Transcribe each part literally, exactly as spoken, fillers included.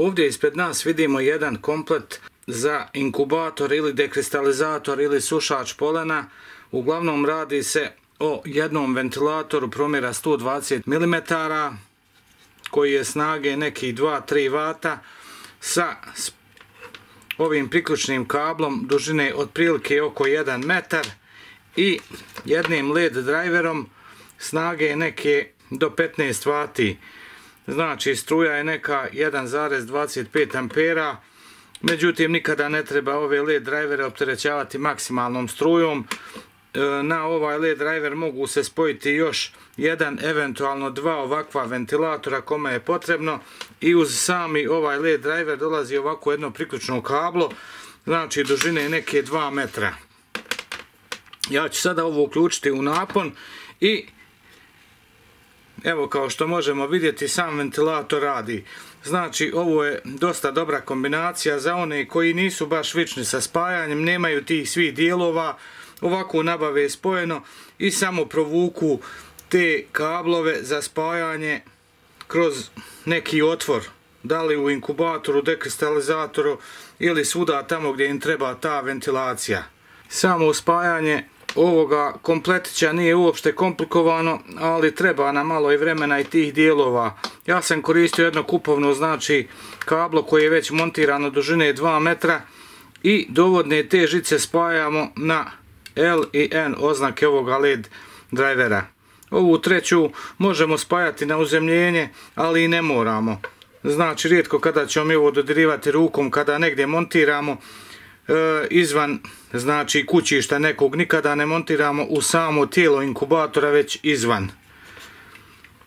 Ovdje ispred nas vidimo jedan komplet za inkubator ili dekristalizator ili sušač polena. Uglavnom radi se o jednom ventilatoru promjera sto dvadeset milimetara koji je snage nekih dva do tri vata sa ovim priključnim kablom dužine otprilike oko jedan metar i jednim led driverom snage neke do petnaest vati. Znači struja je neka jedan zarez dvadeset pet ampera, međutim nikada ne treba ove led drivere opterećavati maksimalnom strujom. Na ovaj led driver mogu se spojiti još jedan, eventualno dva ovakva ventilatora kome je potrebno, i uz sami ovaj led driver dolazi ovako jedno priključno kablo, znači dužine neke dva metra. Ja ću sada ovo uključiti u napon i evo, kao što možemo vidjeti, sam ventilator radi. Znači ovo je dosta dobra kombinacija za one koji nisu baš vični sa spajanjem, nemaju tih svih dijelova. Ovako nabave spojeno i samo provuku te kablove za spajanje kroz neki otvor, da li u inkubatoru, dekristalizatoru ili svuda tamo gdje im treba ta ventilacija. Samo spajanje ovoga kompletića nije uopšte komplikovano, ali treba nam malo i vremena i tih dijelova. Ja sam koristio jedno kupovno, znači kablo koje je već montirano dužine dva metra i dovodne te žice spajamo na L i N oznake ovoga led drivera. Ovu treću možemo spajati na uzemljenje, ali i ne moramo. Znači rijetko kada ćemo mi ovo dodirivati rukom kada negdje montiramo e, izvan, znači kućišta nekog, nikada ne montiramo u samo tijelo inkubatora, već izvan.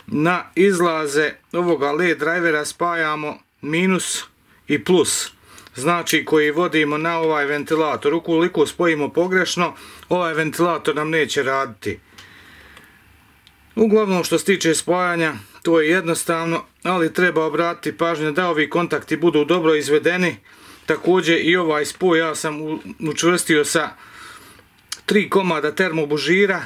Na izlaze ovoga led drivera spajamo minus i plus, znači koji vodimo na ovaj ventilator. Ukoliko spojimo pogrešno, ovaj ventilator nam neće raditi. Uglavnom, što se tiče spajanja, to je jednostavno, ali treba obratiti pažnju da ovi kontakti budu dobro izvedeni. Također i ovaj spoj ja sam učvrstio sa tri komada termobužira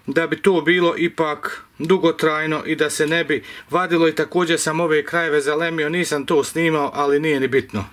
da bi to bilo ipak dugotrajno i da se ne bi vadilo, i također sam ove krajeve zalemio, nisam to snimao, ali nije ni bitno.